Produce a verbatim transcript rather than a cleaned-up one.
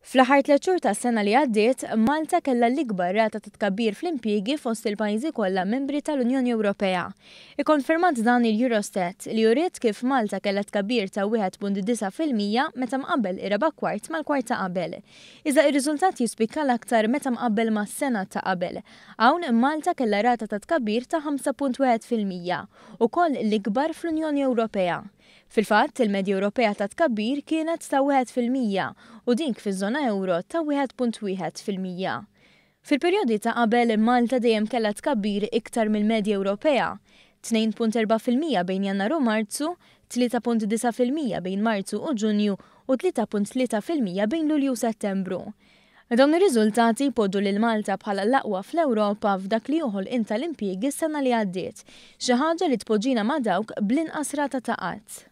Fl-aħħar tliet xhur tas-sena li għaddiet, Malta kellha l-ikbar rata ta' tkabbir fl-impjiegi fost il-pajjiżi kollha membri tal-Unjoni Ewropea. Ikkonfermat dan il-Eurostat li uriet kif Malta kellha tkabbir ta' wieħed punt disa' fil-mija meta mqabbel ir-raba' kwart mal-kwart ta' qabel. Iżda ir-riżultat jispikka l-aktar meta mqabbel mas-sena ta' qabel. Hawn Malta kellha rata ta' tkabbir ta' ħamsa punt wieħed fil-mija, ukoll l-ikbar fl-Unjoni Ewropea. Fil-fatt, il-medja Ewropea ta' tkabbir kienet ta' wieħed fil-mija u dik fiż-żona euro ta' wieħed punt wieħed fil-mija. Fil-perjodi ta' qabel, Malta dejjem kellha tkabbir iktar mill-medja Ewropea, tnejn punt erba' fil-mija bejn Jannar u Marzu, tlieta punt disa' fil-mija bejn Marzu u Ġunju u tlieta punt tlieta fil-mija bejn Lulju u Settembru. Dawn ir-riżultati jpoġġu lil Malta bħala l-aqwa fl-Ewropa f'dak li joħol inta l-impjiegi s-sena li għaddiet, xi ħaġa li tpoġġina ma' dawk bl-inqas rata ta' qatt.